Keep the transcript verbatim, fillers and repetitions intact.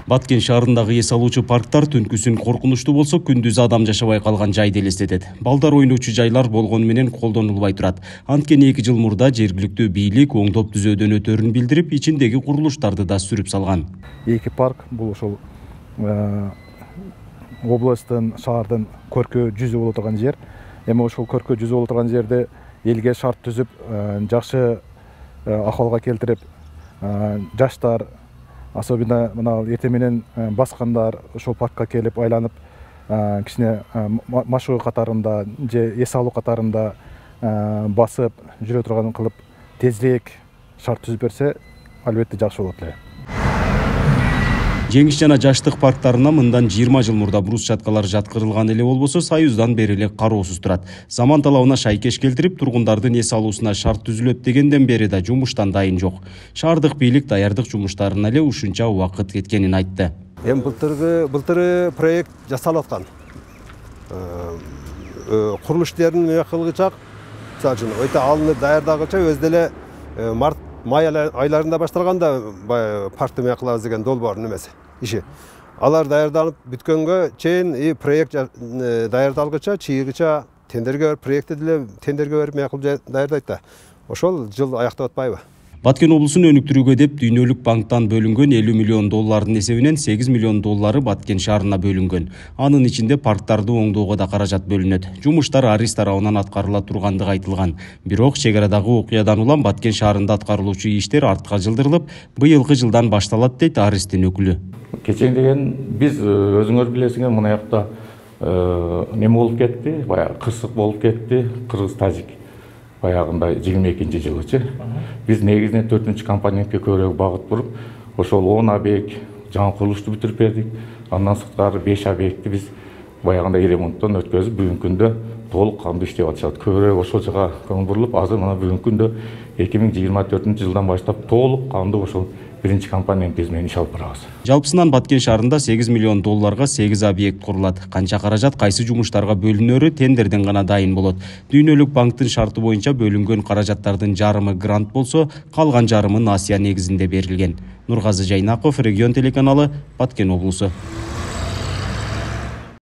Баткен шаарындагы эс алуучу парктар түнкүсүн коркунучтуу болсо, күндүз адам жашабай калган жайды элестетет. Балдар ойночу жайлар болгону менен колдонулбай турат. Анткени эки жыл мурда жергиликтүү бийлик оңдоп түзөөдөн өтөрүн билдирип, ичиндеги курулуштарды да сүрүп салган. Эки парк бул ошол областтын, шаардын көркө жүзү боло турган жер. Эми ошол көркө жүзү боло турган жерде элге шарт түзүп, жакшы акыбалга келтирип, жаштар, особенно мына эртең менен баскандар ошол паркка келип айланып, кичине машыгуу катарында же эс алуу катарында басып жүрө турган кылып тезирээк шарт түзүп берсе, албетте жакшы болот эле. Жеңиш жана жаштык парктарына мындан жыйырма жыл мурда брусчаткалар жаткырылган эле болбосо, Союздан бери эле кароосуз турат. Заман талабына шайкеш келтирип, тургундардын эс алуусуна шарт түзүлөт дегенден бери да жумуштан дайын жок. Шаардык бийлик даярдык жумуштарына эле ушунча убакыт кеткенин айтты. Эми былтыркы былтыры проект жасалып аткан. Курулуш иштерин мыя кылгычак, мисалы үчүн өтө алынып даярдагыча өз деле март май айларында башталганда паркты мыя кылабыз деген долбоор немеси иши. Алар даярданып бүткөнгө чейин и проект даярдалгыча, чыйгыча тендерге берип, проектти деле тендерге берип мыя кылып даярдайт да. Ошол жыл аяктап атпайбы? Баткен облусун өнүктүрүүгө деп Дүйнөлүк банктан бөлүнгөн элүү миллион доллардын эсебинен сегиз миллион доллары Баткен шаарына бөлүнгөн. Анын ичинде парктарды оңдоого да каражат бөлүнөт. Жумуштар Арис тарабынан аткарыла тургандыгы айтылган. Бирок чек арадагы окуядан улам Баткен шаарында аткарылуучу иштер артка жылдырылып, быйылкы жылдан башталат дейт Аристин өкүлү. Кечең деген биз өзүңөр билесиңер, мына жакта неме болуп кетти, баягы кырсык болуп кетти, кыргыз-тажик. Баягында жыйырма экинчи жылычы. Биз негизинен төртүнчү компонентке көбүрөөк багыт буруп, ошол он объект жаңы курулушту бүтүрүп бердик. Андан сырткары беш объектти биз баягында ремонттон өткөзүп, бүгүнкү күндө толук кандуу иштеп атышат. Көбүрөөк ошол жака көңүл бурулуп, азыр мына бүгүнкү күндө эки миң жыйырма төртүнчү жылдан баштап толук кандуу ошол биринчи компонент биз менен иш алып барабыз. Жалпысынан Баткен шаарында сегиз миллион долларга сегиз объект курулат. Канча каражат кайсы жумуштарга бөлүнөрү тендерден гана дайын болот. Дүйнөлүк банктын шарты боюнча бөлүнгөн каражаттардын жарымы грант болсо, калган жарымы насыя негизинде берилген. Нургазы Жайнаков, Регион телеканалы, Баткен облусу.